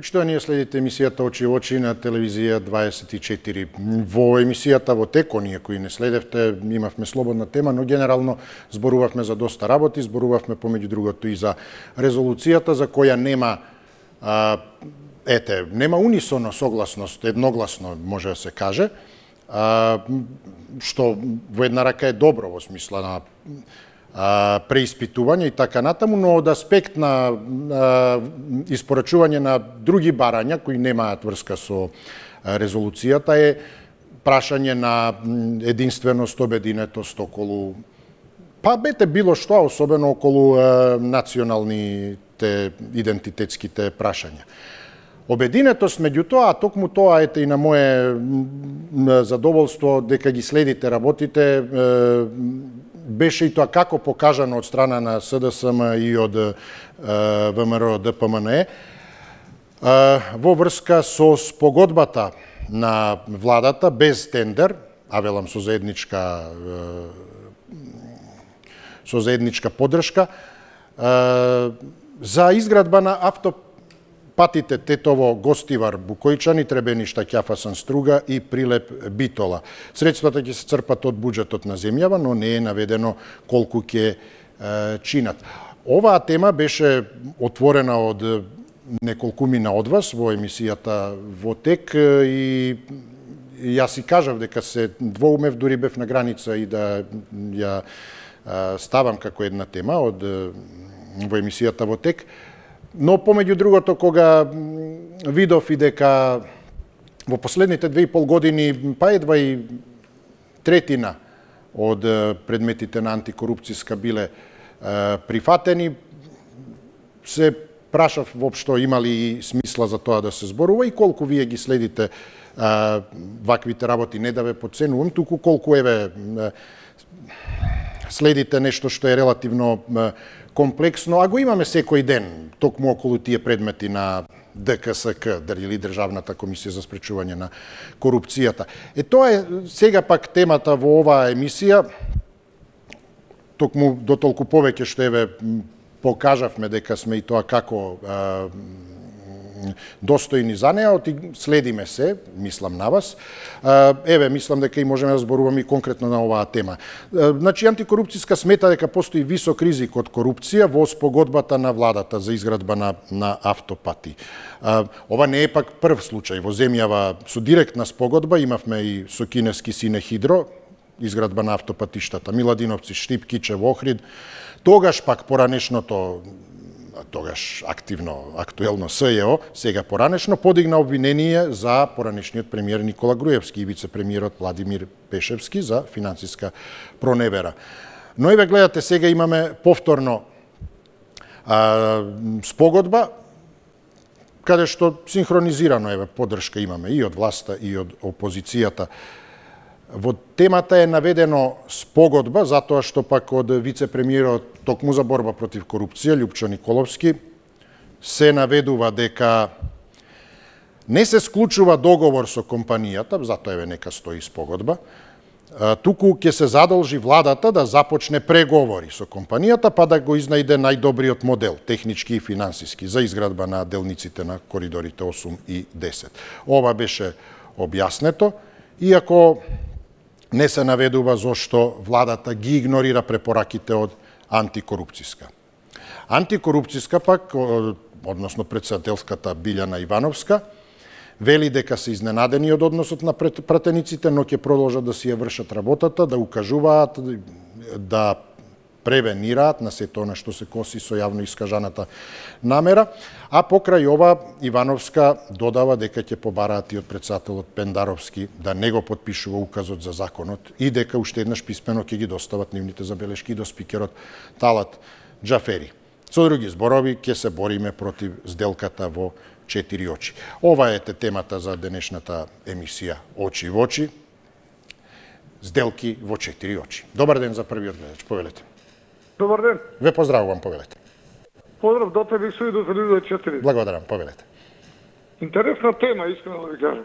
Почитувани, следите емисијата Очи во очи на телевизија 24. Во емисијата во тек, оние кои не следевте, имавме слободна тема, но генерално зборувавме за доста работи, зборувавме помеѓу другото и за резолуцијата за која нема нема унисоно согласност, едногласно може да се каже, што во една рака е добро во смисла на преиспитување и така натаму, но од аспект на испорачување на други барања кои немаат врска со резолуцијата е прашање на единственост, обединетост околу било што, особено околу националните идентитетските прашања. Обединетост меѓутоа, а токму тоа и на мое задоволство дека ги следите работите, беше и тоа како покажано од страна на СДСМ и од ВМРО ДПМНЕ во врска со спогодбата на владата без тендер, велам со заедничка поддршка за изградба на автопатите Тетово-Гостивар Букојчани, Требеништа Ќафасан Струга и Прилеп Битола. Средствата ќе се црпат од буџетот на земјава, но не е наведено колку ќе чинат. Оваа тема беше отворена од неколкумина од вас во емисијата во тек и јас си кажав дека се двоумев, дури бев на граница и да ја ставам како една тема во емисијата во тек. Но помеѓу другото, кога видов и дека во последните 2,5 години, едва и третина од предметите на антикорупцијска биле прифатени, се прашав воопшто има ли смисла за тоа да се зборува и колку вие ги следите ваквите работи. Не да ве подценувам, туку колку следите нешто што е релативно комплексно, а го имаме секој ден, токму околу тие предмети на ДКСК, или Државната комисија за спречување на корупцијата. Тоа е сега пак темата во оваа емисија, токму до толку повеќе што покажавме дека сме и тоа како достојни за неа, следиме се, мислам на вас. Мислам дека и можеме да зборуваме и конкретно на оваа тема. Значи, антикорупцијска смета дека постои висок ризик од корупција во спогодбата на владата за изградба на автопати. Ова не е пак прв случај. Во земјава со директна спогодба имавме и со кинески Синехидро, изградба на автопатиштата Миладиновци, Штип, Кичев, Охрид. Тогаш пак поранешното актуелно СЈО, сега поранешно, подигна обвинение за поранешниот премиер Никола Груевски и вице-премиерот Владимир Пешевски за финансиска проневера. Но гледате, сега имаме повторно спогодба, каде што синхронизирано поддршка имаме и од власта и од опозицијата. Во темата е наведено спогодба, затоа што пак од вице-премиерот токму за борба против корупција, Љупчо Николовски, се наведува дека не се склучува договор со компанијата, затоа нека стои спогодба, туку ќе се задолжи владата да започне преговори со компанијата, па да го изнајде најдобриот модел, технички и финансиски, за изградба на делниците на коридорите 8 и 10. Ова беше објаснето, иако не се наведува зошто владата ги игнорира препораките од антикорупцијска. Антикорупцијска пак, односно председателската Билјана Ивановска, вели дека се изненадени од односот на пратениците, но ќе продолжат да си ја вршат работата, да укажуваат, да превенираат на сето она што се коси со јавно искажаната намера, а покрај ова Ивановска додава дека ќе побараат и од председателот Пендаровски да не го потпишува указот за законот и дека уште еднаш писмено ќе ги достават нивните забелешки до спикерот Талат Џафери. Со други зборови, ќе се бориме против сделката во 4 очи. Ова е темата за денешната емисија Очи во очи. Сделки во 4 очи. Добар ден за првиот гледач, повелете. Добар ден. Ве поздравувам, повелете. Поздрав до тебе и со и до телевизија 4. Благодарам, повелете. Интересна тема, искрено да ви кажам.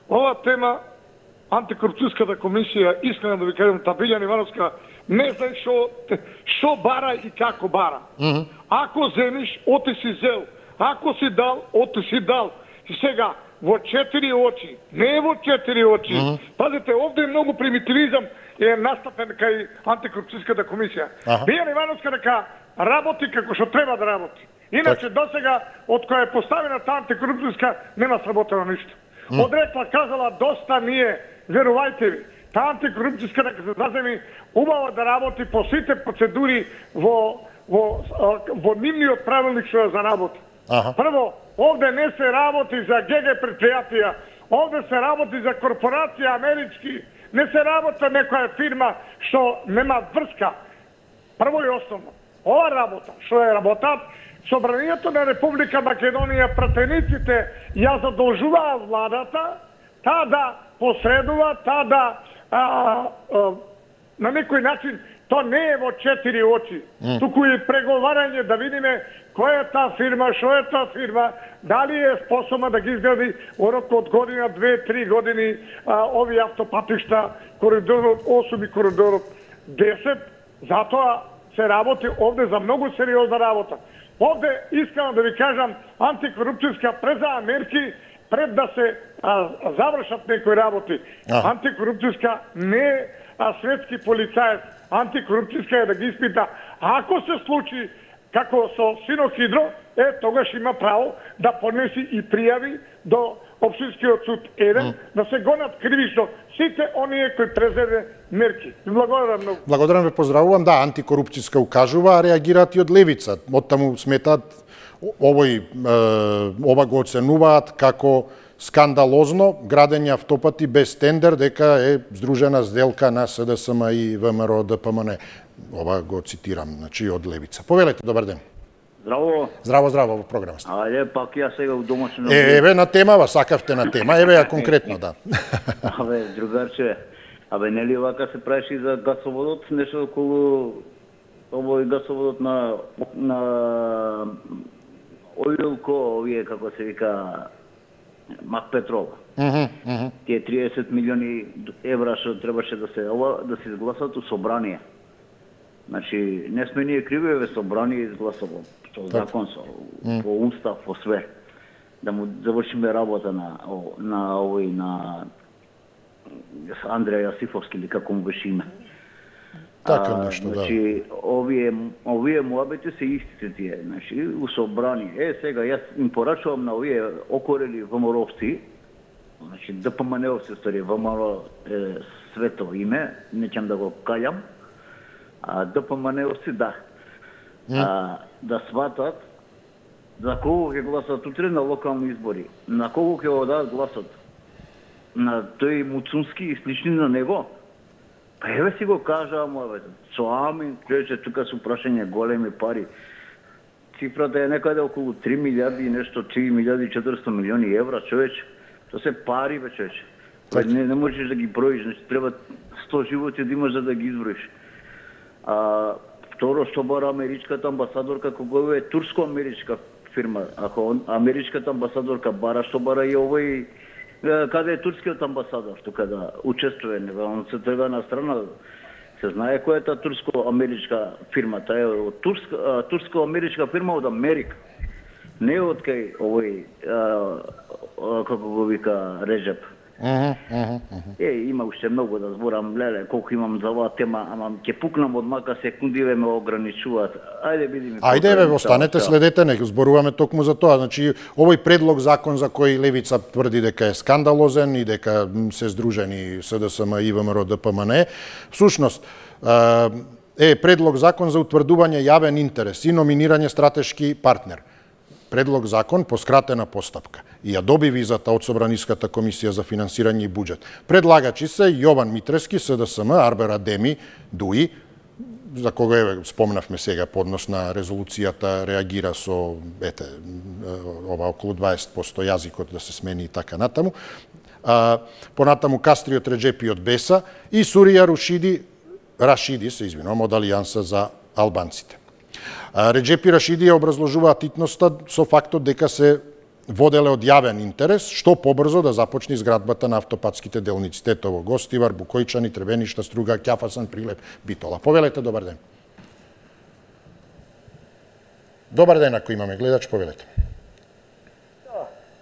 Ова тема, антикорупцијската комисија, искрено да ви кажам, Билјана Ивановска, не знае што бара и како бара. Ако земиш, оти си зел. Ако си дал, ото си дал. И сега, во 4 очи, не во 4 очи. Пазите, овде е многу примитивизам е настапен кај антикорупцијската комисија. Бијана Ивановска дека работи како што треба да работи. Иначе досега, од која е поставена таа антикорупцијска, нема сработено ништо. Одрекла, казала, доста ние, верувајте ви, таа антикорупцијска дека се заземи убаво да работи по сите процедури во нивниот правилник што за работа. Прво, овде не се работи за ГГ предпријатија, овде се работи за корпорација амерички, не се работи некоја фирма што нема врска. Прво и основно, ова работа, што е работат, Собранието на Република Македонија, пратениците ја задолжуваат владата, таа да посредува, таа да на некој начин, то не е во 4 очи, туку и преговарање да видиме која е таа фирма, што е таа фирма, дали е способна да ги изгради во рок од година, 2-3 години овие автопатишта, коридорот 8 и коридорот 10, затоа се работи овде за многу сериозна работа. Овде, искам да ви кажам, антикорупцијска презаа мерки пред да се завршат некои работи. Антикорупцијска не е светски полицаец. Антикорупцијска е да ги испита. Ако се случи, како со Синохидро, тогаш има право да поднеси и пријави до Општинскиот суд 1, да се гонат кривично сите оние кои презеде мерки. Благодарам многу. Благодарам, ве поздравувам. Да, антикорупцијска укажува, а реагираат и од левица. Оттаму сметаат ова го оценуваат како скандалозно градење автопати без тендер, дека е здружена сделка на СДСМ и ВМРО ДПМН. Ова го цитирам, значи од левица. Повелете, добар ден. Здраво. Здраво, во програма сте. Ајде, пак ја сега у домашно... Еве на темава, сакавте на тема, еве ја конкретно, да. Другарче, нели вака се правеше за гасоводот, нешто околу овој гасоводот на Оилко, овие, како се вика, Мак Петрол. Тие 30 милиони евра што требаше да се изгласат у собрание. Значи, не сме ние криви, ве собрание изгласало. Со закон, по устав, по све. Да му завршиме работа на Андреја Јасифовски, или како му беше име. Така нешто, да. Значи, овие муабети се истите тие, значи, у собрание. Сега, јас им порачувам на овие окорели ВМРО-овци, значи, ДПМН-овци, стори, ВМРО е свето име, не ќе да го кајам, ДПМН-овци, да. Да сватат за кого ќе гласат утре на локални избори, на кого ќе го дадат гласот, на тој Муцунски и слични на него. Па еве си го кажа, со амин, човече, тука се прашање големи пари. Цифрата е некаде околу 3 милиарди и нешто, 3 милиарди 400 милиони евра, човече. То се пари, бе, човече. Не можеш да ги броиш, значи треба 100 животи да имаш за да ги изброиш. Второ, што бара америчката амбасадорка, кога е турско-америчка фирма. Ако америчката амбасадорка бара, што бара и овој, каде е турскиот амбасадор, тука да учествува, он се трга на страна, се знае која е таа турско-америчка фирма, таа е турско-америчка фирма од Америка. Не од кај овој, како го вика, Реджеп. Има уште многу да зборам, леле, колку имам за оваа тема, ама ќе пукнам од мака секунди, ме ограничуваат. Ајде, видиме. Ајде, останете, следете, не зборуваме токму за тоа. Значи, овој предлог закон за кој левица тврди дека е скандалозен и дека се здружени СДСМ и ВМРО ДПМН, всушност е предлог закон за утврдување јавен интерес и номинирање стратешки партнер. Предлог закон по скратена постапка и ја доби визата од Собраниската комисија за финансирање и буџет. Предлагачи се Јован Митрески, СДСМ, Арбер Адеми, ДУИ, за кога спомнавме сега поднос на резолуцијата, реагира со, ова околу 20% јазикот да се смени и така натаму. Понатаму Кастриот Реджепи од БЕСА и Сурија Рашиди, од Алијанса за албанците. Реджепи Рашиди ја образложува титноста со фактот дека се воделе од јавен интерес, што побрзо да започне изградбата на автопатските делници Тетово, Гостивар, Букојчани, Требеништа, Струга, Ќафасан, Прилеп, Битола. Повелете, добар ден. Добар ден, ако имаме гледач, повелете.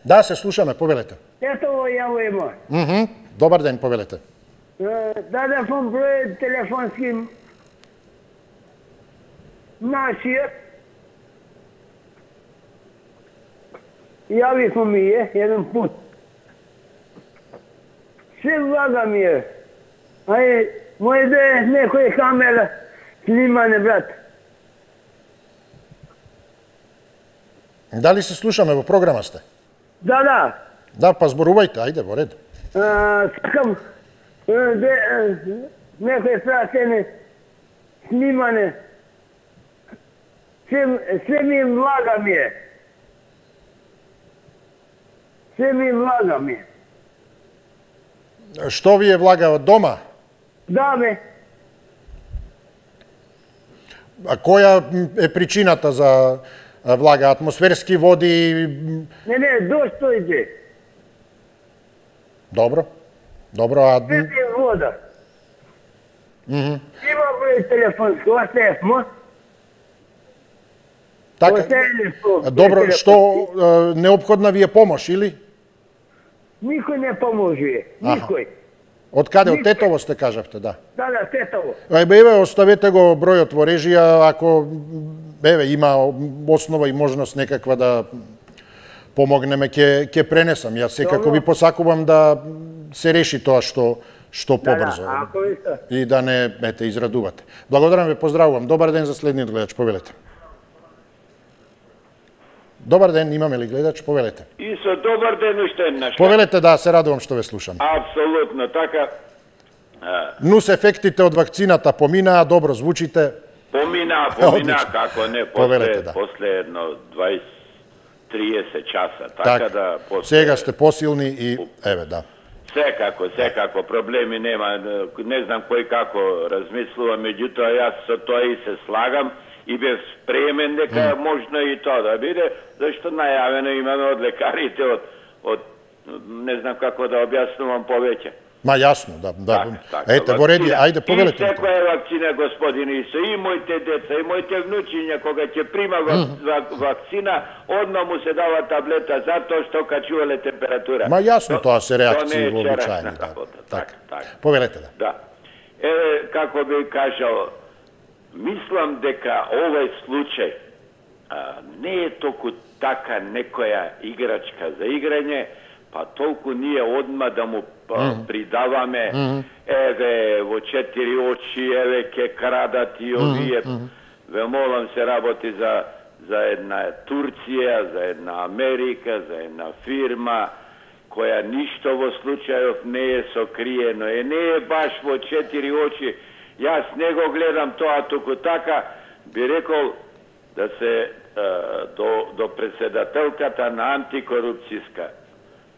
Да, се слушаме, повелете. Тетово Јавојмо. Добар ден, повелете. Дадефон број телефонски нашиот. Јавифо ми еден пут. Се влага ми е. Мој да е некој камера снимане, брат. Дали се слушаме во програма сте? Да. Да, па зборувајте, ајде, во ред. Сакам некој прашене снимане. Се ми влага ми е. Се ми влага ми е. Што ви е влага од дома? Да, бе. А која е причината за влага? Атмосферски води? Не, достојде. Добро, а... Свети вода. Има број телефонски, оставмо. Така, добро, што неопходна ви е помош, или? Никој не поможува, никој. Од каде? Од Тетово сте кажавте, да? Да, Тетово. Еве, оставете го бројот во режија, ако има основа и можност некаква да помогнеме, ќе пренесам. Јас секако ви посакувам да се реши тоа што побрзо. И да не израдувате. Благодарам ве, поздравувам. Добар ден за следниот гледач, повелете. Добар ден, имаме ли гледач? Повелете. Исо, добар ден уште еднаш. Повелете, да, се радувам што ве слушам. Апсолутно, така. Нус ефектите од вакцината поминаа, добро звучите. Поминаа, како не, после едно 20-30 часа. Така да... Сега сте посилни и, еве, да. Секако, проблеми нема. Не знам кој како размислува, меѓутоа јас со тоа и се слагам. И бев спремен дека можно и тоа да биде, зашто најавено имаме од лекарите, од не знам како да објаснувам повеќе. Ма јасно, да. Ете, во реди, ајде, повелете. И секоја вакцина, господин Исо, и моите деца, и моите внучиња, кога ќе прима вакцина, одма му се дава таблета, затоа што качувале температура. Ма јасно, тоа се реакции вообичаени. Така. Повелете, да. Да. Еве, како би кажал, мислам дека овој случај не е толку така некоја играчка за играње, па толку ние одма да му придаваме, еве, во 4 очи, еве, ке крадат и овие. Ве молам, се работи за една Турција, за една Америка, за една фирма, која ништо во случајов не е сокриено, не е баш во 4 очи. Јас не го гледам тоа, туку така би рекол да се до председателката на антикорупцијска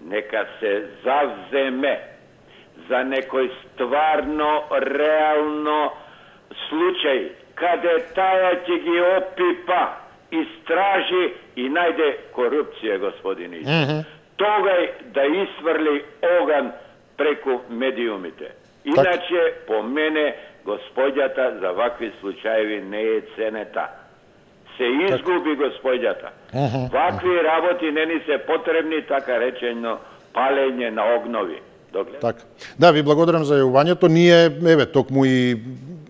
нека се завземе за некој стварно, реално случај, каде таја ќе ги опипа, истражи и најде корупција, господин Исо. Тогај да исврли оган преку медиумите. Иначе, по мене, господјата за вакви случаеви не е ценета. Се изгуби господјата. Вакви работи не ни се потребни, така речено, палење на огнови. Така. Да, ви благодарам за јавувањето. Ние, еве, токму и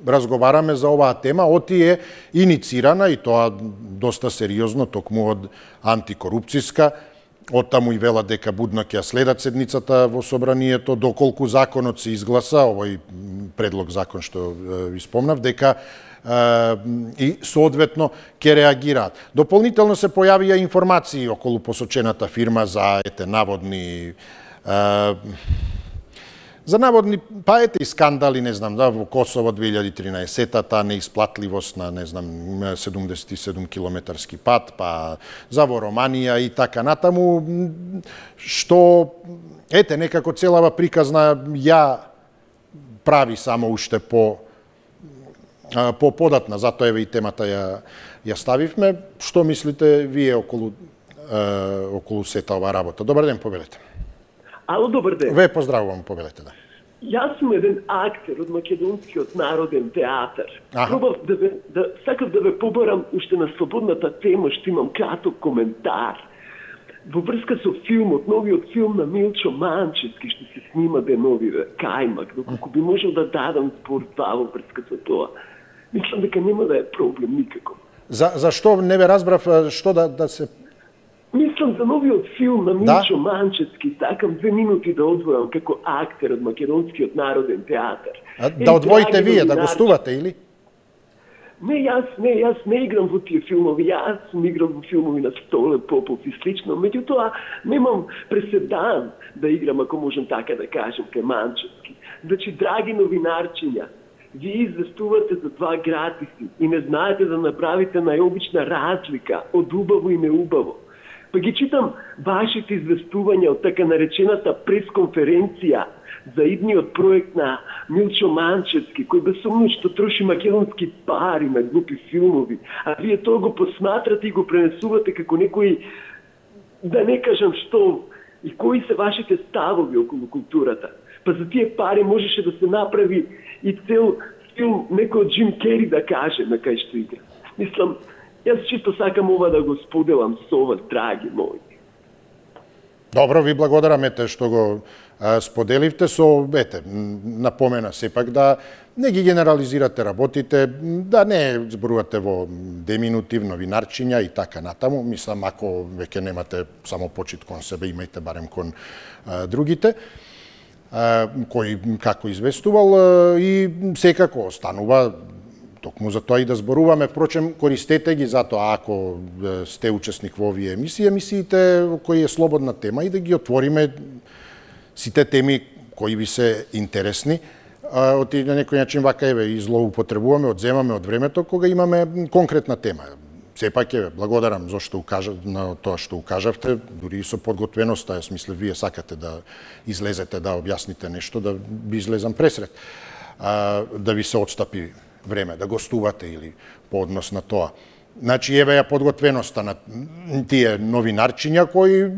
разговараме за оваа тема. Оти е иницирана, и тоа доста сериозно, токму од антикорупцијска. Оттаму и велат дека будно ќе следат седницата во собранието, доколку законот се изгласа, овој предлог закон што ви спомнав, дека и соодветно ќе реагираат. Дополнително се појавија информации околу посочената фирма за наводни и скандали, не знам, да, во Косово 2013-та, неисплатливост на, не знам, 77 километарски пат, па за во Романија и така натаму, што, некако целава приказна ја прави само уште податна, затоа еве и темата ја ставивме. Што мислите вие околу сета ова работа? Добар ден, повелете. Ало, добар ден. Ве поздравувам, повелете, да. Јас сум еден актер од Македонскиот народен театар. Пробав сакав да ве побарам уште на слободната тема, што имам краток коментар. во врска со филмот, новиот филм на Милчо Манчевски, што се снима деновиве, Кајмак, доколку би можел да дадам збор во врска со тоа. Мислам дека нема да е проблем никако. Зашто не бе разбрав што да се... Мислам за новиот филм на Милчо Манчевски, сакам 2 минути да одвојам како актер од Македонскиот народен театар. Да одвоите вие, да гостувате или? Не, јас не играм во тие филмови, јас сум играл во филмови на Столе Попов и слично, меѓутоа немам преседан да играм, ако можам така да кажем, кај Манчевски. Значи, драги новинарчиња, вие известувате за 2 гратиси и не знаете да направите најобична разлика од убаво и неубаво. Па ги читам вашите известувања од така наречената пресконференција за идниот проект на Милчо Манчевски, кој безсумно што троши македонски пари на глупи филмови, а вие тоа го посматрате и го пренесувате како некој, да не кажам што, и кои се вашите ставови околу културата. Па за тие пари можеше да се направи и цел филм, некој од Джим Кери да каже на кај што игра. Мислам, јас чисто сакам ова да го споделам со вас, драги мои. Добро, ви благодарам што го споделивте со, напомена сепак да не ги генерализирате работите, да не зборувате во деминутив, новинарчиња и така натаму. Мислам, ако веќе немате само почит кон себе, имајте барем кон другите, кој како известувал, и секако останува токму за тоа и да зборуваме. Впрочем, користете ги затоа ако сте учесник во овие емисиите кои е слободна тема и да ги отвориме сите теми кои ви се интересни. На некој начин вака и злоупотребуваме, одземаме од времето кога имаме конкретна тема. Сепак благодарам зашто на тоа што укажавте, дури и со подготвеноста, јас мислев вие сакате да излезете да објасните нешто, да би излезам пресред, да ви се отстапи време, да гостувате или по однос на тоа. Значи, еве ја подготвеноста на тие новинарчиња кои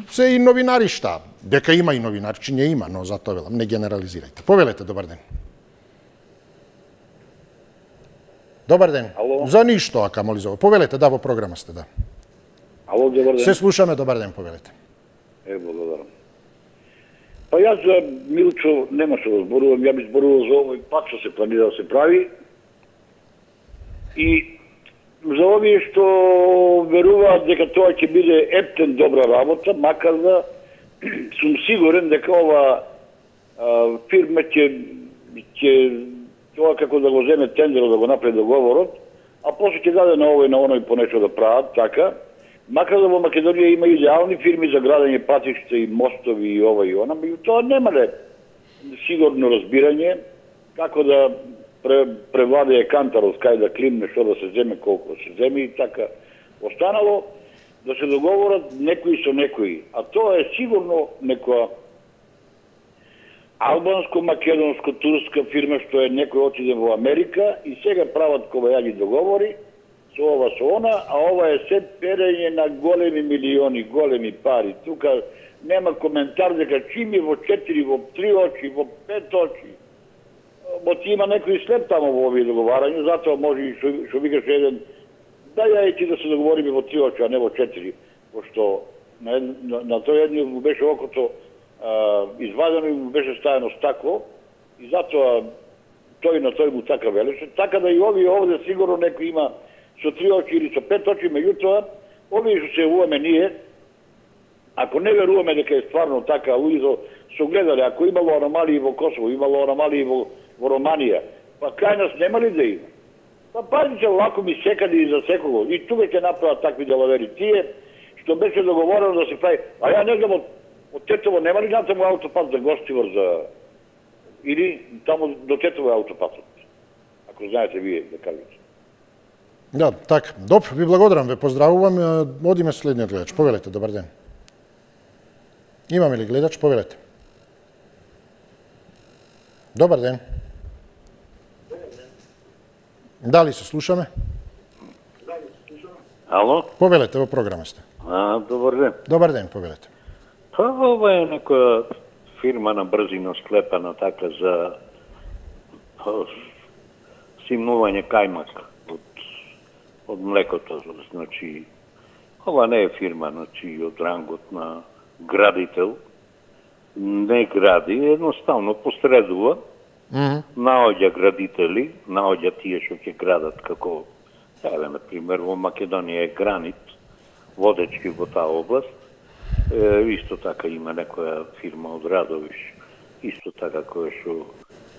се и новинаришта. Дека има и новинарчиња, има, но затоа велам, не генерализирајте. Повелете, добар ден. Добар ден. Ало? За ништо, камоли за... Повелете, да, во програма сте, да. Ало, добар ден. Се слушаме, добар ден, повелете. Благодарам. Па јас за Милчо нема што да зборувам, ја би зборувал за овој пат што се планира да се прави. И за овие што веруваат дека тоа ќе биде ептен добра работа, макар да сум сигурен дека ова фирма ќе тоа како да го земе тендерот, да го направи договорот, а после ќе даде на овој на оној по нешто да прават, така. Макар да во Македонија има идеални фирми за градење патишта и мостови и ова и она, тоа немале сигурно разбирање како да превладее кантарот, кај да климне, што да се земе, колку се земе и така. Останало да се договорат некои со некои, а тоа е сигурно некоја албанско-македонско-турска фирма што е некој отиде во Америка и сега прават ковајаги договори со ова, со она, а ова е се перење на големи милиони, големи пари. Тука нема коментар дека чим е во 4, во 3 очи, во 5 очи. Ти има некој след тамо во овие договарања, затоа може и што викаш еден, да ја и ти да се договориме во 3 очи, а не во 4, пошто на тој едни му беше окото извадено и му беше ставено стакло и затоа тој на тој му така велеше. Така да и овие овде сигурно некој има со 3 очи или со 5 очи, меѓутоа, овие што се јавуваме ние, ако не веруваме дека е стварно така, луѓето со гледале, ако имало аномалии во Косово, имало аномалии во Романија, па кај нас нема ли да има? Па пазите лако ми секаде и за секого. И тука ќе направат такви делавери. Тие што беше договорено да се прави, а ја не знам од Тетово нема ли натаму аутопат за Гостивар за или таму до Тетово е аутопатот. Ако знаете вие да кажете. Да, така. Добро, ви благодарам, ве поздравувам. Одиме следниот гледач. Повелете, добар ден. Имаме ли гледач? Повелете. Добар ден. Дали се слушаме? Ало? Повелете, во програма сте. Добар ден. Добар ден, повелете. Па ова е некоја фирма на брзина склепана така за симнување кајмак од млекото, значи Ова не е фирма, значи, од рангот на градител. Не гради, едноставно посредува, наоѓа градители, наоѓа тие што ќе градат како, еве, например, во Македонија е Гранит, водечки во таа област. Исто така има некоја фирма од Радовиш, исто така која што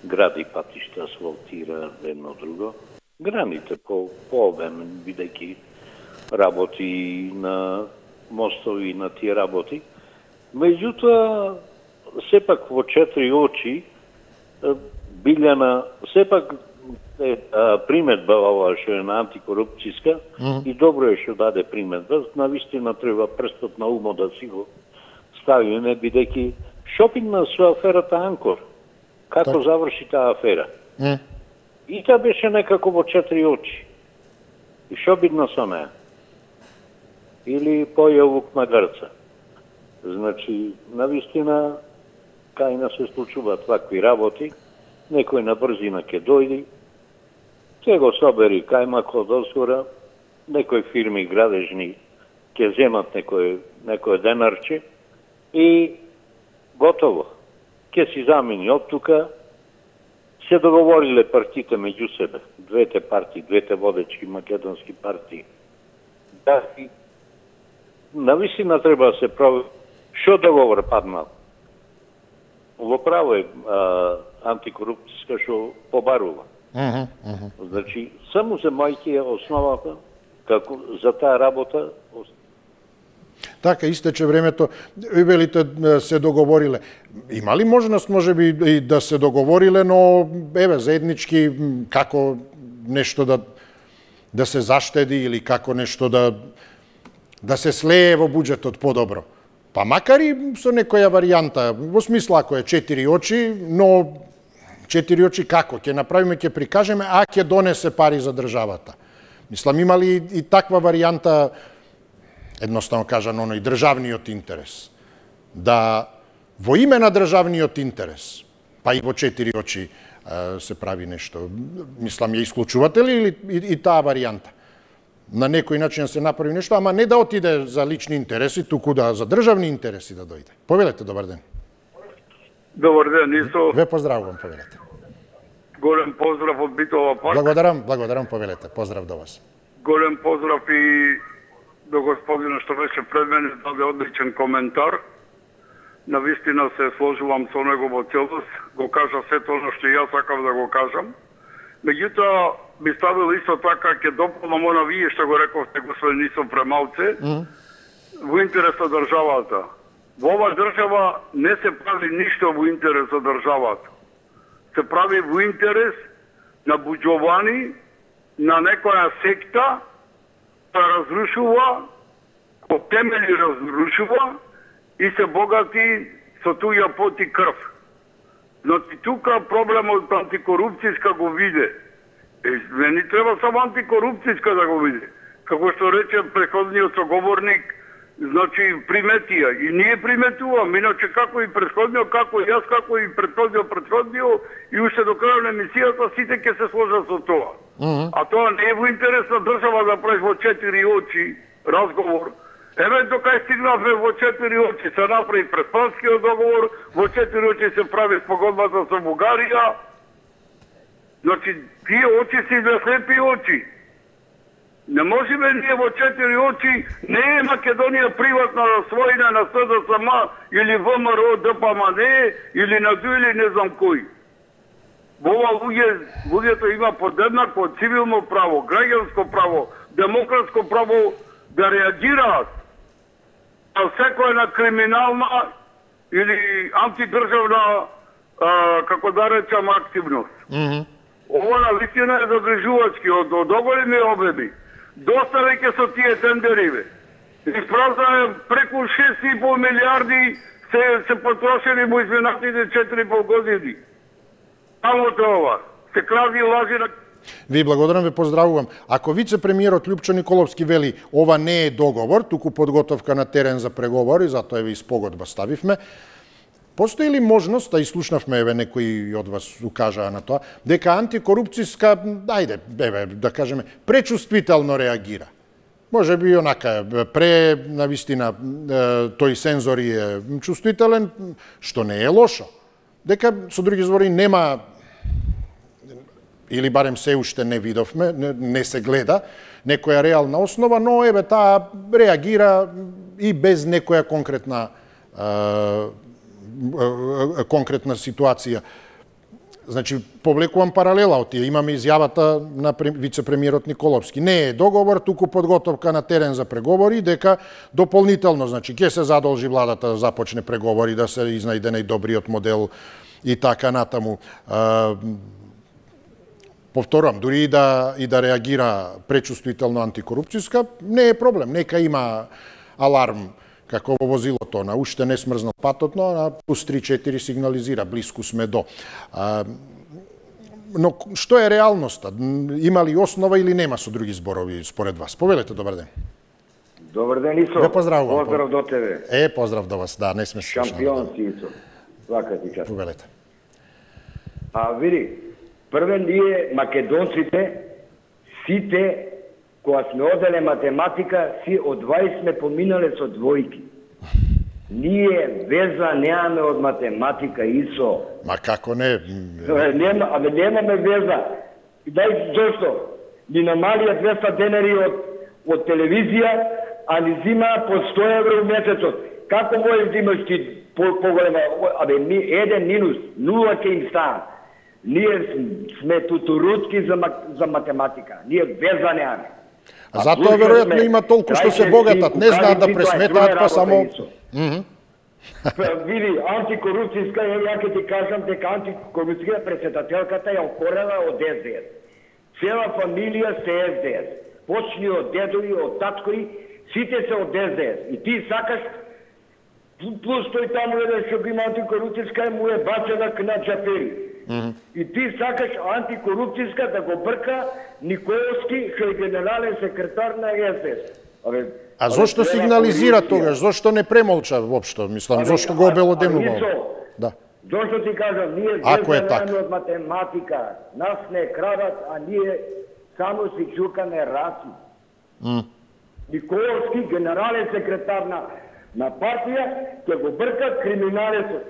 гради патишта, асфалтира едно друго. Граните по обем, бидејќи работи на мостови, на тие работи. Меѓутоа, сепак во 4 очи, Билјана, сепак приметба ова што е на антикорупцијска и добро е што даде приметба, навистина треба прстот на умо да си го ставиме, бидејќи шопингна со аферата Анкор. Како заврши таа афера? И таа беше некако во 4 очи. И што бидно со неа? Или поја лук на грца. Значи, навистина, кај нас се случуваат вакви работи, некој на брзина ќе дојди, ќе го собери кајмакот озгора, некои фирми градежни ќе земат некој денарче и готово. Ќе си замени од тука, се договориле партиите меѓу себе, двете партии, двете водечки македонски партии. Да, и навистина треба да се прави. Што договор паднал? Во право е антикорупцијска што побарува. Значи, само земајќи е основата како за таа работа. Така, истече времето, велите се договориле. Има ли можност, може би, и да се договориле, но, еве, заеднички, како нешто да се заштеди или како нешто да се слее во буџетот подобро? Па макар и со некоја варијанта, во смисла ако е 4 очи, но 4 очи како? Ќе направиме, ќе прикажеме, а ќе донесе пари за државата. Мислам, има ли и таква варијанта, едноставно кажано, оној државниот интерес? Да во име на државниот интерес, па и во 4 очи се прави нешто. Мислам, ја исклучувате ли и таа варијанта? На некој начин се направи нешто, ама не да отиде за лични интереси, туку да за државни интереси да дојде. Повелете, добар ден. Добар ден, Исо. Ве поздравувам, повелете. Голем поздрав од Битова парк. Благодарам, повелете. Поздрав до вас. Голем поздрав и до господина што беше пред мене, даде одличен коментар. Навистина се сложувам со него во целост, го кажа сето оно што јас сакав да го кажам. Меѓутоа, би ставил исто така, ќе дополнам она вие што го рековте, господин Исо Премалце, во интерес на државата. Во ова држава не се прави ништо во интерес на државата. Се прави во интерес на буџовани, на некоја секта, да разрушува, по темели разрушува и се богати со туѓа пот и крв. Значи, тука проблемот антикорупцијска го виде. Не ни треба само антикорупцијска да го види. Како што рече претходниот соговорник, значи приметија. И ние приметувам, иначе како и претходниот, како и јас, како и претходниот, и уште до крај на емисијата сите ќе се сложат со тоа. А тоа не е во интерес на држава да правиш во 4 очи разговор. Еве докај стигнавме во 4 очи, се направи Преспанскиот договор, во 4 очи се прави спогодбата со Бугарија. Значи, тие очи си за слепи очи. Не можеме ние во 4 очи, не е Македонија приватна својна на СДСМ или ВМРО, ДПМН, или на ДУ или не знам кој. Во ова луѓето има подеднакво цивилно право, граѓанско право, демократско право да реагираат на секоја криминална или антидржавна, како да речам, активност. Ова на вистина е загрижувачки од оголеми обеми. Доста веќе со тие тендериве. Испразнаме преку 6,5 милиарди се потрошени во изминатите 4,5 години. Само тоа. Се кради и лажи на... Ви благодарам, ве поздравувам. Ако вице-премиерот Љупчо Николовски вели ова не е договор, туку подготовка на терен за преговори, затоа еве и спогодба ставивме, постои ли можност, а и слушнавме, еве некои од вас укажаа на тоа, дека антикорупцијска, ајде, еве, да кажеме, пречувствително реагира? Може би онака, пре, навистина, тој сензор е чувствителен, што не е лошо. Дека, со други збори, нема, или барем се уште не видовме, не се гледа, некоја реална основа, но еве таа реагира и без некоја конкретна ситуација. Значи, повлекувам паралела од тие. Имаме изјавата на вице-премиерот Николовски. Не е договор, туку подготовка на терен за преговори, дека дополнително, значи, ќе се задолжи владата да започне преговори, да се изнајде најдобриот модел и така натаму. Повторам, дури и да реагира пречувствително антикорупцијска, не е проблем. Нека има аларм, како во возилото, на уште не смрзнал патот, но на плюс 3-4 сигнализира, близко сме до. Но што е реалноста? Има ли основа или нема, со други зборови, според вас? Повелете, добар ден. Добар ден, Исо. Ве поздравувам. Поздрав до тебе. Поздрав до вас, да, не сме слушнали. Шампион си, Исо. Свака ти част. Повелете. Види, прве ние, македонците, сите, кога сме оделе математика, си од 20 сме поминале со двојки. Ние веза немаме од математика, Исо. Ма како не? Немаме веза. Дај, зошто? Ни намалија 200 денари од телевизија, а ни зима по 100 евро месецот. Како можеш да имаш ти поголема? Еден минус, нула ќе им става. Ние сме тутурутки за математика. Ние веза немаме. Затоа веројатно има толку што се богатат, не знаат да пресметаат, па само... Види, антикорупцијска, ја ќе ти кажам дека антикорупцијска председателката ја окорена од СДС. Цела фамилија се СДС. Почни од дедови, од таткови, сите се од СДС. И ти сакаш, плюс тој таму еден што има антикорупцијска, му е бачена на Джапери. И ти сакаш антикорупцијска да го брка Николовски, што е генерален секретар на СДС. А зошто сигнализира тогаш? Зошто не премолча воопшто? Мислам, зошто го обелоденува? Да. Зошто ти кажам, ние везаме од математика. Нас не крадат, а ние само си чукаме раси. Николовски, генерален секретар на партија, ќе го брка криминалецот.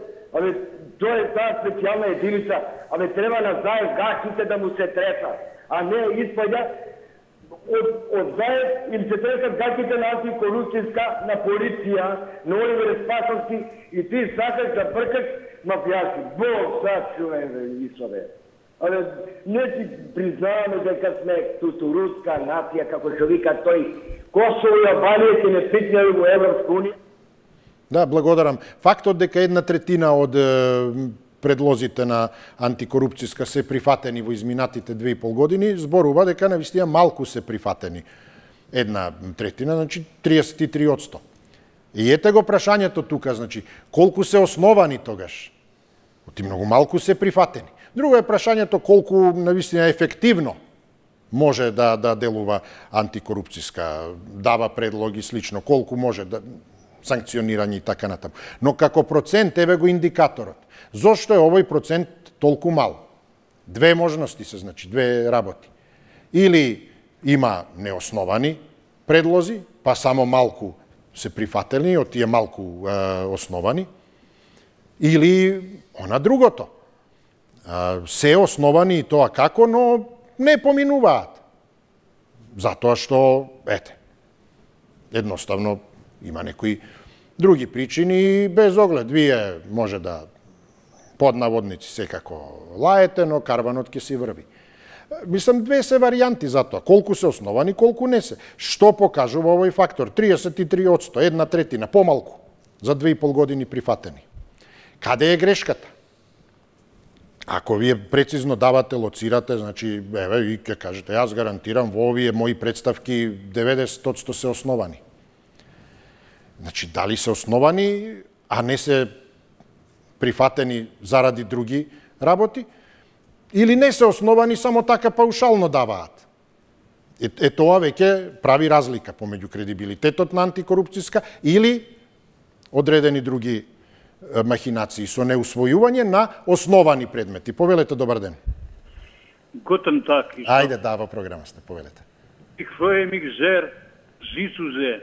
Тоа е таа специјална единица. Треба на заед гахите да му се тресат, а не испаѓа од заед им се тресат гахите на антикорупцијска, на полиција, на Оливер Спасовски и ти сакаш да бркаш мафијаски. Бог сачувен, Исове. Не си признаваме дека сме тутурутска нација, како што вика тој. Косово и Албанија ќе не стигнали во Европска унија. Да, благодарам. Фактот дека 1/3 од предлозите на антикорупцијска се прифатени во изминатите 2,5 години, зборува дека навистина малку се прифатени. 1/3, значи 33%. И ете го прашањето тука, значи, колку се основани тогаш? Оти многу малку се прифатени. Друго е прашањето колку навистина ефективно може да делува антикорупцијска, дава предлоги слично, колку може да санкционирање и така натаму. Но како процент, еве го индикаторот. Зошто е овој процент толку мал? Две можности се, значи, две работи. Или има неосновани предлози, па само малку се прифатени, од тие малку основани, или она другото. Се основани и тоа како, но не поминуваат. Затоа што, едноставно има некои други причини и без оглед. Вие може да под наводници секако лаете, но карванот ќе си врви. Мислам, две се варијанти за тоа. Колку се основани, колку не се. Што покажува овој фактор? 33%, 1/3, помалку, за 2,5 години прифатени. Каде е грешката? Ако вие прецизно давате, лоцирате, значи, и ќе кажете, јас гарантирам, во овие мои представки 90% се основани. Значи, дали се основани, а не се прифатени заради други работи, или не се основани, само така паушално даваат. Тоа веќе прави разлика помеѓу кредибилитетот на антикорупцијска или одредени други махинации со неусвојување на основани предмети. Повелете, добар ден. Guten Tag. Ајде, да, во програма сте, повелете. Ich freue mich sehr, Зисузе,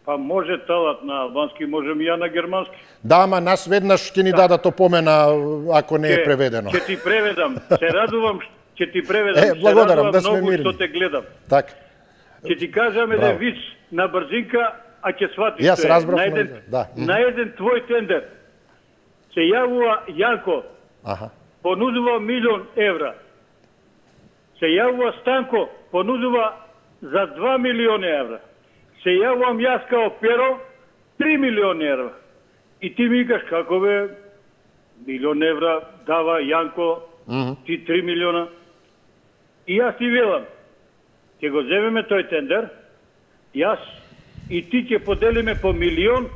па може талат на албански, можем и ја на германски. Да, ама нас веднаш ќе ни дадат опомена ако не е преведено. Ќе ти преведам, се радувам, ќе ти преведам, благодарам, да сме многу мирни. што те гледам. Така. Ќе ти кажам еден виц на брзинка, а ќе сватиш Јас разбрав, на еден твој тендер се јавува Јанко, понудува 1.000.000 евра. Се јавува Станко, понудува за 2 милиони евра. Се јавувам јас као Перо, 3 милиони евра. И ти ми викаш како бе, 1.000.000 евра дава Јанко, ти 3 милиона. И јас ти велам, ќе го земеме тој тендер, јас и ти ќе поделиме по 1.000.000,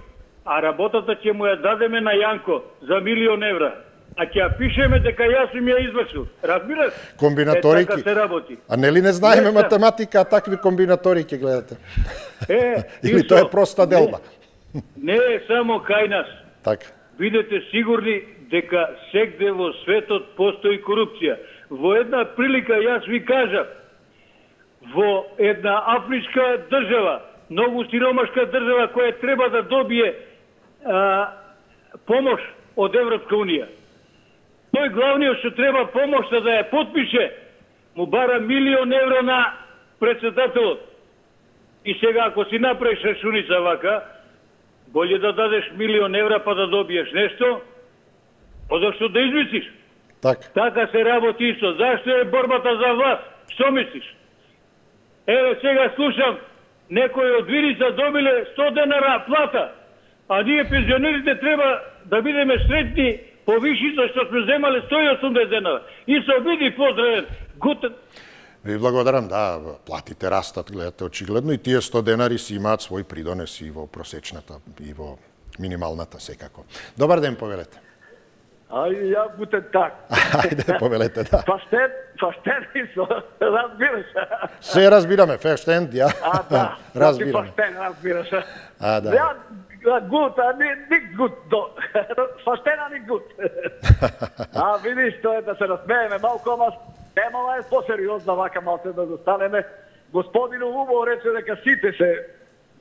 а работата ќе му ја дадеме на Јанко за 1.000.000 евра. А ќе ја пишеме дека јас им ја извршил. Разбираш? Комбинаторики. Така се работи. А нели не знаеме математика, а такви комбинаторики гледате? Или тоа е проста делба? Не е само кај нас. Така. Бидете сигурни дека сегде во светот постои корупција. Во една прилика јас ви кажав, во една афричка држава, многу сиромашка држава која треба да добие помош од Европска унија. Тој главниот што треба помошта да ја потпише, му бара 1.000.000 евра на председателот. И сега ако си направиш рачуница вака, болje да дадеш 1.000.000 евра па да добиеш нешто, одошто да измислиш. Така се работи исто. Зашто е борбата за власт? Што мислиш? Еве сега слушам, некои од Виница добиле 100 денара плата, а ние пензионерите треба да бидеме сретни по вишица што сме земале 180 денара. И се обиди поздравен. Гутен. Ви благодарам, да, платите растат, гледате очигледно, и тие 100 денари си имаат свој придонес и во просечната, и во минималната секако. Добар ден, повелете. Ја гутен так. Ајде, повелете, да. Фаштен разбираш. Се разбираме, фештен, ја. Да, разбираме. Фаштен, разбираш. Да. Гут, а не гут. Фаштена не гут. Видиш, тоа е да се насмееме малко, ама темава е посериозна, вака малце да застанеме. Господину убаво рече дека сите се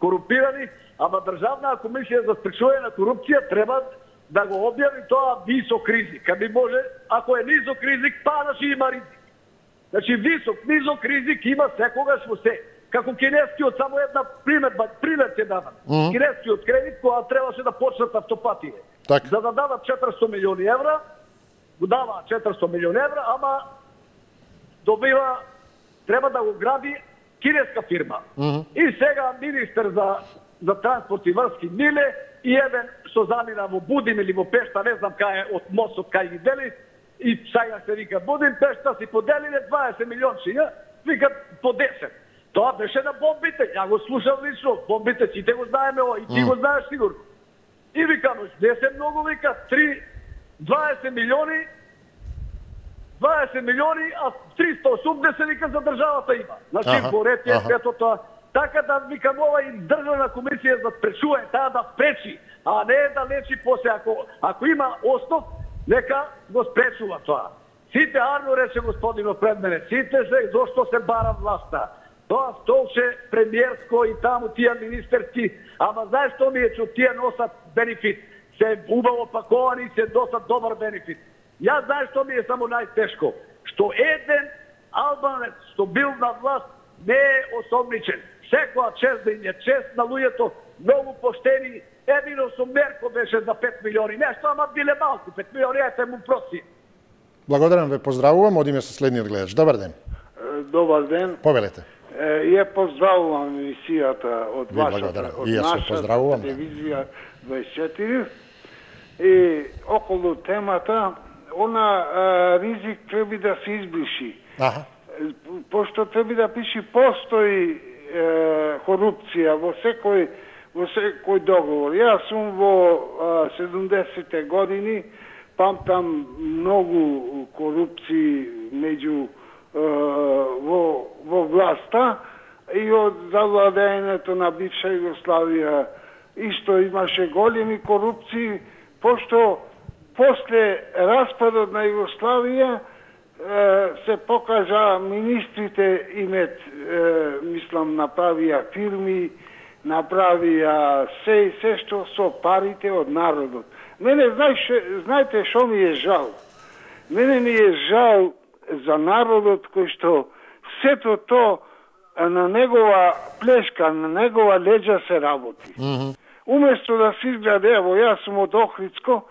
корумпирани, ама Државна комисија за спречување на корупција треба да го објави тоа висок ризик. А би може, ако е низок ризик, па да има ризик. Значи низок ризик има секогаш во се. Како кинескиот, само една пример ќе дадам. Кинескиот кредит, кога требаше да почнат автопатije. За да дадат 400 милиони евра, го дава 400 милиони евра, ама добива, треба да го гради кинеска фирма. И сега министер за транспорт и врски Миле и еден што замина во Будим или во Пешта, не знам кај од мостот кај ги дели, и сега се вика Будим, Пешта си поделиле 20 милиончиња, викат по 10. Тоа беше на бомбите, ја го слушам лично, бомбите сите го знаеме, и ти го знаеш сигурно. И викам, не се многу, вика, 20 милиони, а 380 вика за државата има. Значи, поред е сето тоа. Така да викам, ова и Државна комисија за спречување, таа да спречи, а не да лечи после. Ако има основ, нека го спречува тоа. Сите, арно рече господинот пред мене, сите се, зошто се бара власта. Тоа столче премиерско и таму тие министерски, ама знаеш што ми е, че тие носат бенефит. Се убаво паковани и се досат добар бенефит. Ја знаеш што ми е само најтешко, што еден албанец што бил на власт не е осомничен. Секоја чест да им е чест на луѓето, многу поштени. Едино со Мерко беше за 5 милиони нешто, ама биле малку 5 милиони, ете му проси. Благодарам, ве поздравувам, одиме со следниот гледач. Добар ден. Добар ден. Повелете. Ја поздравувам емисијата од вашата, од нашата телевизија 24 и околу темата, она ризик треба да се избриши. Пошто треба да пише постои корупција во секој договор. Јас сум во 70-те години, памтам многу корупции меѓу во власта и од завладењето на бивша Југославија исто имаше големи корупции, пошто после распадот на Југославија се покажа министрите имет, мислам, направија фирми, направија се што со парите од народот. Мене, знаете што ми е жал? Мене ми е жал за народот кој што сето то на негова плешка, на негова леđа се работи. Уместо да се изграде, ево, јас сум од Охридско,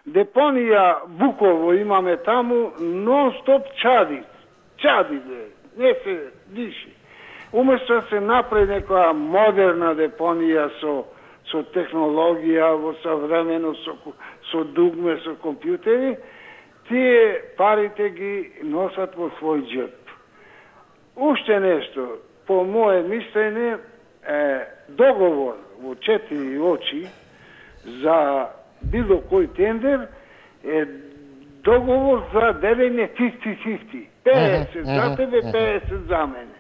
депонија Буково имаме таму, нон-стоп чади, не се диши. Уместо да се направи некоја модерна депонија со технологија, во современо, со дугме, со компјутери, тие парите ги носат во свој џеп. Уште нешто, по моје мислење, договор во 4 очи за било кој тендер е договор за делење 50-50. 50 за тебе, 50 за мене.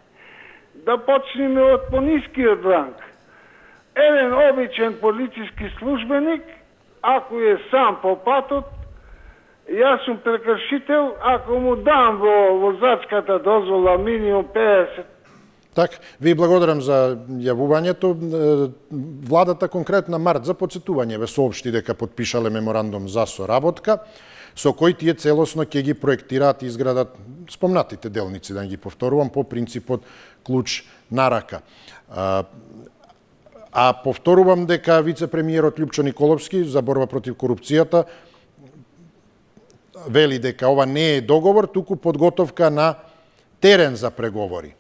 Да почнеме од понискиот ранг. Еден обичен полициски службеник, ако е сам по патот, јас сум прекршител, ако му дам во возачката дозвола минимум 50. Так, ви благодарам за јавувањето. Владата конкретно март за подсетување ве соопшти дека подпишале меморандум за соработка, со кој тие целосно ќе ги проектираат и изградат спомнатите делници, да ги повторувам, по принципот клуч на рака. А повторувам дека вице-премиерот Љупчо Николовски за борба против корупцијата вели дека ова не е договор, туку подготовка на терен за преговори.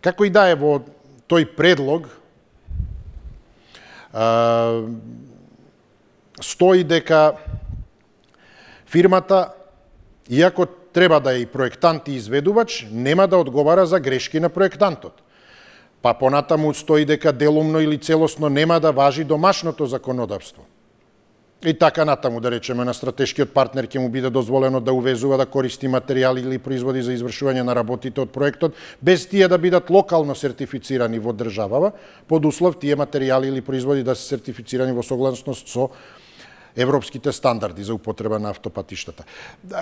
Како и да е во тој предлог, стои дека фирмата, иако треба да е и проектант и изведувач, нема да одговара за грешки на проектантот. Па понатаму стои дека делумно или целосно нема да важи домашното законодавство. И така натаму, да речеме, на стратешкиот партнер ќе му биде дозволено да увезува, да користи материјали или производи за извршување на работите од проектот, без тие да бидат локално сертифицирани во државава, под услов тие материјали или производи да се сертифицирани во согласност со европските стандарди за употреба на автопатиштата.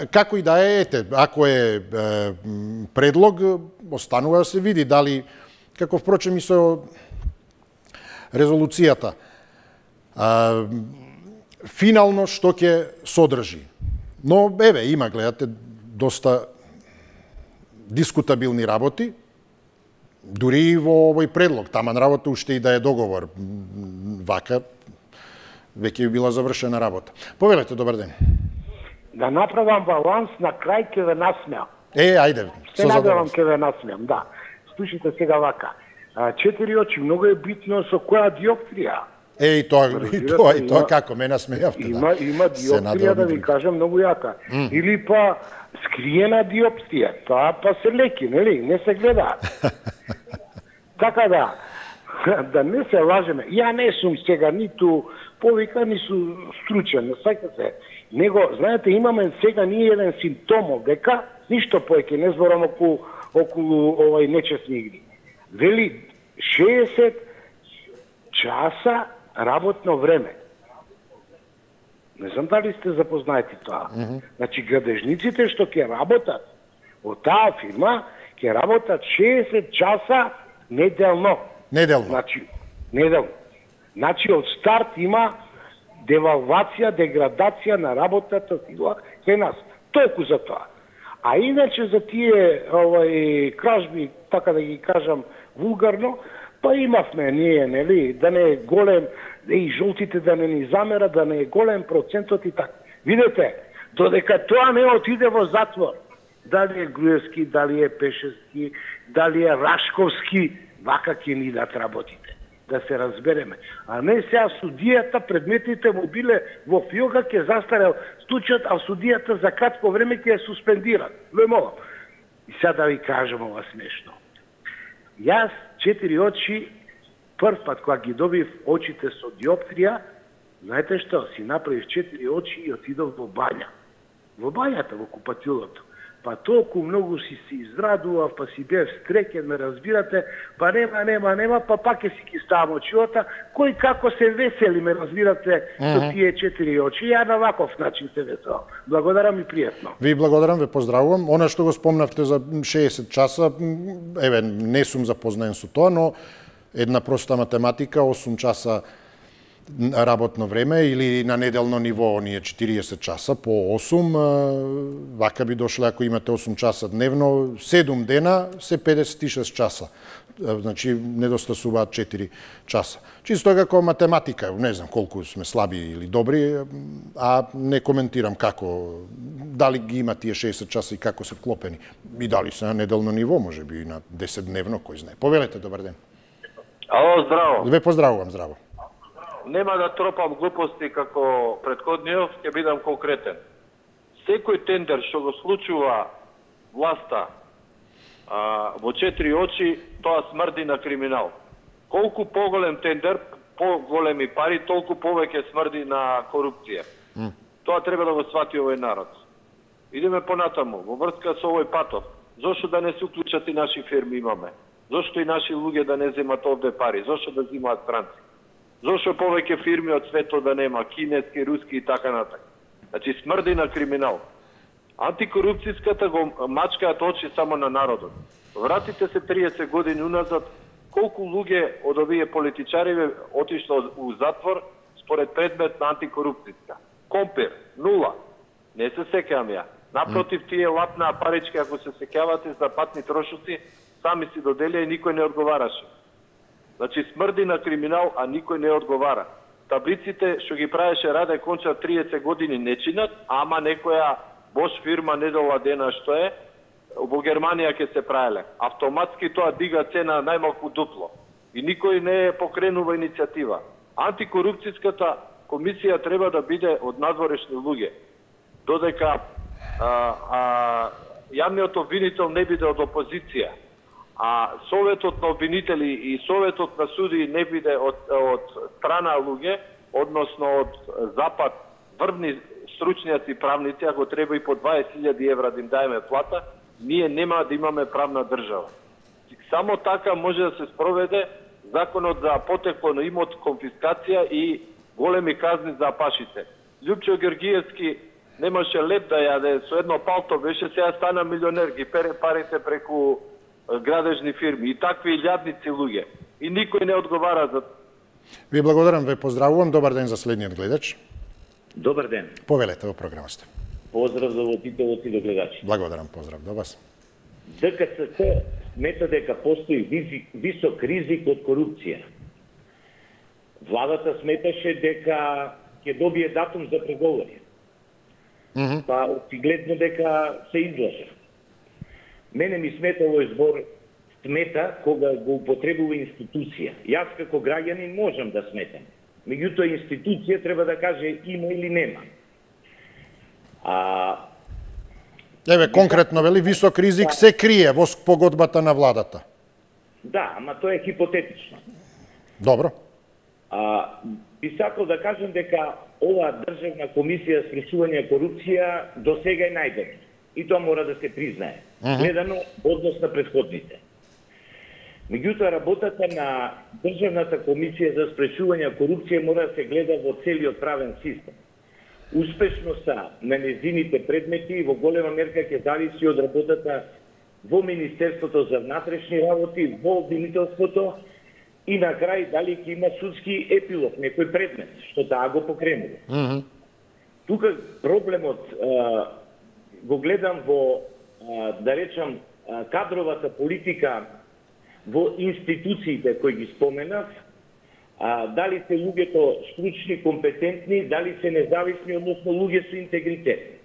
Како и да е, ете, ако е предлог, останува да се види дали, како впрочем и со резолуцијата, финално што ќе содржи. Но, еве, има, гледате, доста дискутабилни работи, дури и во овој предлог. Таман работа уште и да е договор. Вака, веќе би била завршена работа. Повелете, добар ден. Да направам баланс, на крај ќе ве насмеам. Ајде. Се надевам ќе ве насмеам, да. Слушайте сега вака. 4 очи, многу е битно со која диоптрија. И тоа како ме насмејавте. Има диоптрија, да ви кажам, многу јака. Или па скриена диоптрија. Тоа па се леки, нели? Не се гледа. Така да не се лажеме. Ја не сум сега ниту повика, ниту стручен, саќате. Него, знаете, имаме сега ние еден симптом дека ништо повеќе не зборам околу овај нечесни игри. Вели 60 часа работно време. Не знам дали сте запознаети тоа. Значи, градежниците што ќе работат од таа фирма, ќе работат 60 часа неделно. Значи, неделно. Значи, од старт има девалвација, деградација на работата кај нас. Толку за тоа. А иначе за тие кражби, така да ги кажам вулгарно, па имавме ние, нели, да не е голем, и жолтите да не ни замера, да не е голем процентот и така. Видете, додека тоа не отиде во затвор, дали е Груевски, дали е Пешевски, дали е Рашковски, вака ќе ни дат работите. Да се разбереме. А не сега судијата, предметите му биле во фиока, ќе застарел случајот, а судијата за кратко време ќе ја суспендират. Лемо. И сега да ви кажам ова смешно. Јас 4 очи, прв пат кога ги добив очите со диоптрија, знаете што, си направив 4 очи и отидов во бања. Во бањата, во купатилото. па толку многу си се израдував, па си бев среќен, ме разбирате, па нема, па пак ќе си ги ставам очиота, кој како се весели, ме разбирате, со тие 4 очи. Ја на ваков начин се веселам. Благодарам и пријатно. Ви благодарам, ве поздравувам. Она што го спомнавте за 60 часа, еве, не сум запознаен со тоа, но една проста математика, 8 часа работно време или на неделно ниво оние 40 часа по 8, вака би дошле ако имате 8 часа дневно, 7 дена се 56 часа. Значи недостасуваат 4 часа. Чисто како математика, не знам колку сме слаби или добри, а не коментирам како, дали ги има тие 60 часа и како се вклопени. И дали се на неделно ниво, може би и на 10 дневно, кој знае. Повелете, добар ден. Ало, здраво. Ве поздравувам, здраво. Нема да тропам глупости како претходниот, ќе бидам конкретен. Секој тендер што го случува власта во 4 очи, тоа смрди на криминал. Колку поголем тендер, поголеми пари, толку повеќе смрди на корупција. Тоа треба да го свати овој народ. Идеме понатаму, во врска со овој патов. Зошто да не се уклучат и наши фирми имаме? Зошто и наши луѓе да не земат овде пари? Зошто да земаат странци? Зошто повеќе фирми од светот да нема, кинески, руски и така натаму? Значи смрди на криминал. Антикорупцијската го мачкаат очи само на народот. Вратите се 30 години уназад, колку луѓе од овие политичари отишло у затвор според предмет на антикорупцијска? Компир, 0. Не се сеќавам ја. Напротив, тие лапна парички, ако се сеќавате за патни трошоци, сами си доделија и никој не одговараше. Значи смрди на криминал, а никој не одговара. Таблиците што ги правеше Раде Конча 30 години не чинат, ама некоја Бош фирма недела дена што е, во Германија ќе се правеле. Автоматски тоа дига цена најмалку дупло. И никој не покренува иницијатива. Антикорупцијската комисија треба да биде од надворешни луѓе. Додека јавниот обвинител не биде од опозиција, а советот на обвинители и советот на суди не биде од страна луѓе, односно од запад, врвни стручњаци правници, ако треба и по 20.000 евра да им даеме плата, ние нема да имаме правна држава. Само така може да се спроведе законот за потекло имот, конфискација и големи казни за апашите. Љупчо Георгиевски немаше леп да јаде, со едно палто беше, сега стана милионер, ги пере парите преку градежни фирми и такви илјадници луѓе. И никој не одговара за... Ви благодарам, ве поздравувам. Добар ден за следниот гледач. Добар ден. Повелете во програмата. Поздрав за водителот и до гледачи. Благодарам, поздрав до вас. ДКСТ смета дека постои висок ризик од корупција. Владата сметаше дека ќе добие датум за преговори. Па очигледно дека се излажа. Мене ми смета овој збор смета кога го употребува институција. Јас како граѓанин можам да сметам. Меѓутоа институција треба да каже има или нема. Еве конкретно вели висок ризик се крие во погодбата на владата. Да, ама тоа е хипотетично. Добро. Би сакал да кажам дека оваа државна комисија за спречување корупција до сега е најдобра. И тоа мора да се признае. Гледано однос на претходните. Меѓутоа, работата на Државната комисија за спречување корупција мора да се гледа во целиот правен систем. Успешноста на нејзините предмети во голема мерка ќе зависи од работата во Министерството за внатрешни работи, во обвинителството и на крај дали ќе има судски епилог, некој предмет, што таа го покренува. Тука проблемот го гледам во, да речам, кадровата политика во институциите кои ги споменав, дали се луѓето стручни, компетентни, дали се независни, односно луѓе со интегритет.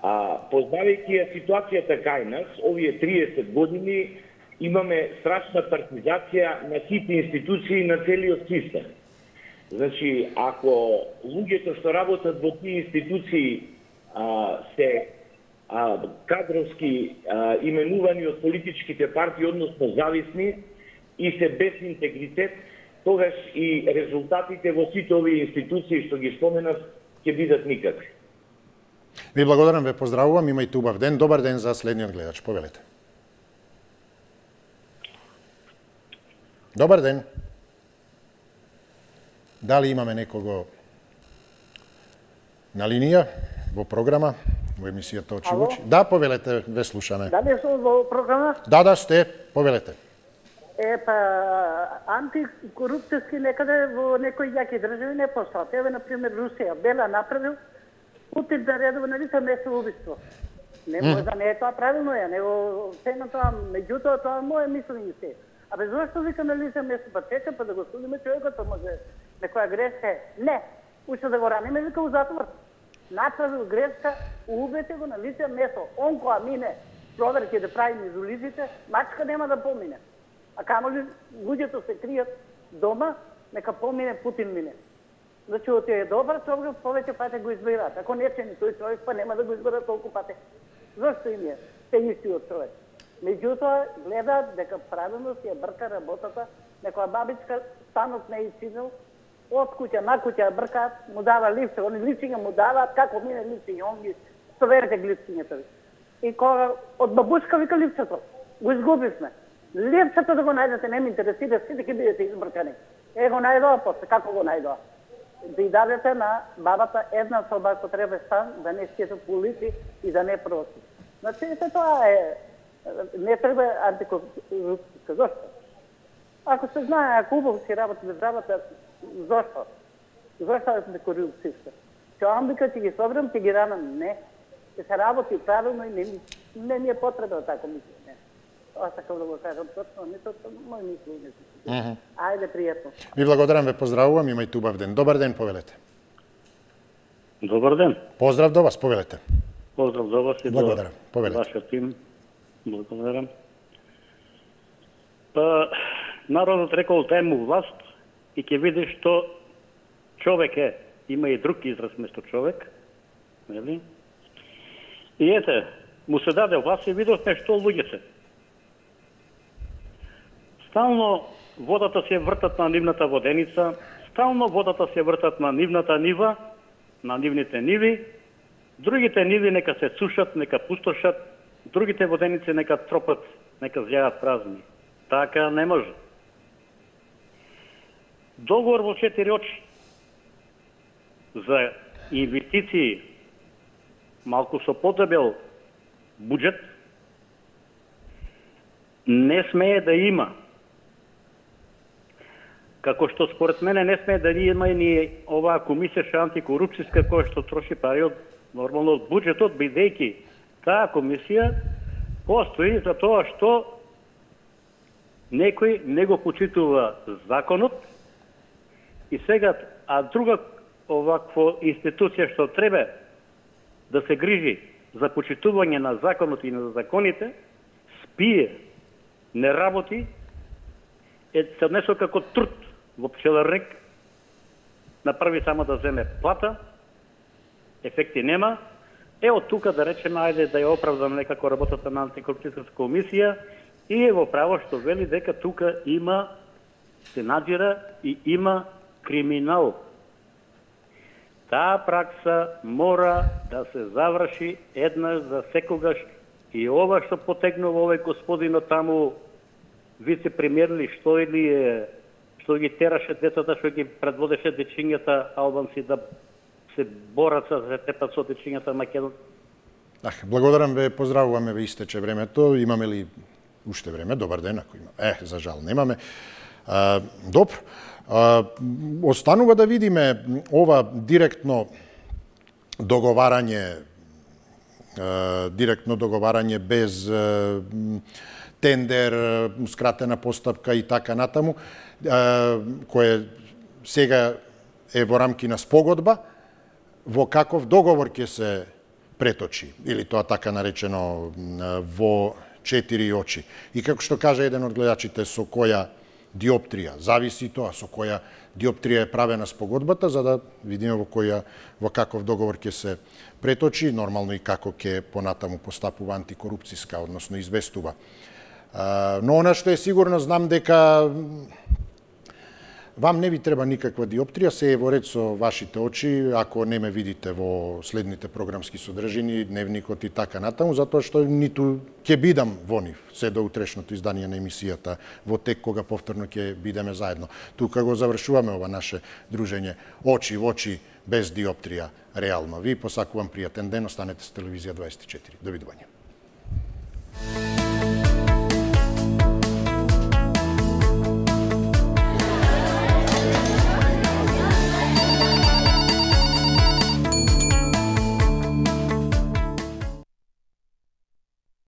Познавајќи ја ситуацијата кај нас, овие 30 години имаме страшна партизација на сите институции на целиот систем. Значи, ако луѓето што работат во тие институции се кадровски именувани од политичките партии, односно зависни и се без интегритет, тогаш и резултатите во сите овие институции што ги споменав ќе бидат никакви. Ви благодарам, ве поздравувам, имајте убав ден. Добар ден за следниот гледач. Повелете. Добар ден. Дали имаме некого на линија во програма, во емисијата Очи во очи? Да, повелете, ве слушаме. Дали сум во програма? Да, сте, повелете. Антикорупцијски некаде во некои јаки држави не постат. Еве, например, Русија, Бела направил, Путин наредува на лице место убиство. Не може да не е тоа правилно ја, него се на тоа, меѓутоа тоа мое мислење се. Абе, зашто вика на лице место, па чека, па да го судиме човекот, па може некоја грешка. Не, уште да го раниме, вика у затвор. Направил грешка, убете го на лице место. Он која мине проверки да прави меѓу лиците, мачка нема да помине. А камоли луѓето се кријат дома, нека помине Путин мине. Значи, оти е добар човек, повеќе пати го избираат. Ако не чени тој човек, па нема да го изберат толку пати. Зошто им е? Те истиот човек. Меѓутоа, гледаат дека правилно си ја брка работата, некоја бабичка станот не изчинил, од куќа на куќа бркаат, му дава лифте, они лифтиња му даваат, како мине лифтиња, он ги стоверите лифтињата ви. И кога од бабушка вика лифтето, го изгубивме. Лифтето да го најдете, не ме интересира, сите ќе бидете избркани. Го најдоа после, како го најдоа? Да и дадете на бабата една соба ако треба стан, да не скетат по улици и да не проси. Значи, тоа е, не треба антикорупцијска. Зошто? Ако се знае, ако убаво си работи државата, зошто? Зошто е антикорупцијска? Че амбика ќе ги собрам, ќе ги ранам? Не. Ќе се работи правилно и не ми е потреба да така мислам. Тоа сакам да го кажам точно, не точно, мој мислење. Ајде, пријатно. Ви благодарам, ве поздравувам, имајте убав ден. Добар ден, повелете. Добар ден. Поздрав до вас, повелете. Поздрав до вас и благодарам. до Повелете. вашиот тим. Благодарам. Па, народот рекол дај му власт и ќе видиш што човек е. Има и друг израз место човек. Нели? И ете, му се даде власт и видовме што луѓе се. Стално водата се вртат на нивната воденица, стално водата се вртат на нивната нива, на нивните ниви, другите ниви нека се сушат, нека пустошат, другите воденици нека тропат, нека зјаат празни. Така не може. Договор во 4 очи за инвестиции, малку со подебел буџет, не смее да има. Како што според мене не смее да има ни оваа комисија антикорупцијска која што троши пари од нормално од буџетот, бидејќи таа комисија постои за тоа што некој не го почитува законот и сега, а друга оваква институција што треба да се грижи за почитување на законот и на законите, спие, не работи, се однесува како труд во пчеларник, направи само да земе плата, ефекти нема, од тука да речеме, ајде да ја оправдам некако работата на антикорупцијската комисија и е во право што вели дека тука има, се надзира и има криминал. Таа пракса мора да се заврши еднаш за секогаш и ова што потегнува овој господинот таму вице-премиер ли што или е, што ги тераше децата, што ги предводеше дечињата албанци да се борат за се тепат со дечињата македонци. Благодарам ве, поздравуваме, ве истече времето. Имаме ли уште време? Добар ден, ако има. За жал немаме. Добро. Останува да видиме ова директно договарање без тендер, скратена постапка и така натаму, кое сега е во рамки на спогодба, во каков договор ќе се преточи, или тоа така наречено во 4 очи. И како што кажа еден од гледачите, со која диоптрија, зависи тоа со која диоптрија е правена спогодбата, за да видиме во каков договор ќе се преточи, нормално и како ќе понатаму постапува антикорупцијска, односно известува. Но она што е сигурно, знам дека Вам не ви треба никаква диоптрија, се е во ред со вашите очи, ако не ме видите во следните програмски содржини, дневникот и така натаму, затоа што ниту ќе бидам во нив, се до утрешното издание на емисијата, во тек кога повторно ќе бидеме заедно. Тука го завршуваме ова наше дружење очи во очи, без диоптрија, реално. Ви посакувам пријатен ден, останете с Телевизија 24. Довидување.